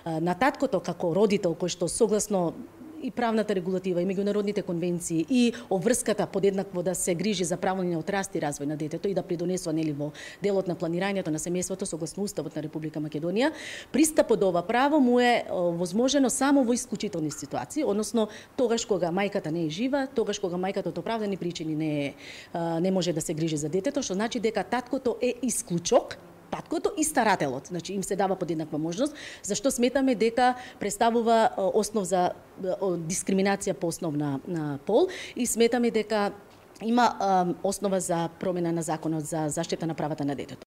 на таткото како родител кој што согласно и правната регулатива, и меѓународните конвенции, и обврската подеднакво да се грижи за правилниот раст и развој на детето и да придонесува нели во делот на планирањето на семејството согласно Уставот на Република Македонија, пристапот до ова право му е возможено само во исклучителни ситуации, односно тогаш кога мајката не е жива, тогаш кога мајката од оправдани причини не може да се грижи за детето, што значи дека таткото е исклучок, таткото и старателот, значи им се дава подеднаква можност, зашто сметаме дека представува основ за дискриминација по основ на пол и сметаме дека има основа за промена на законот за заштита на правата на детето.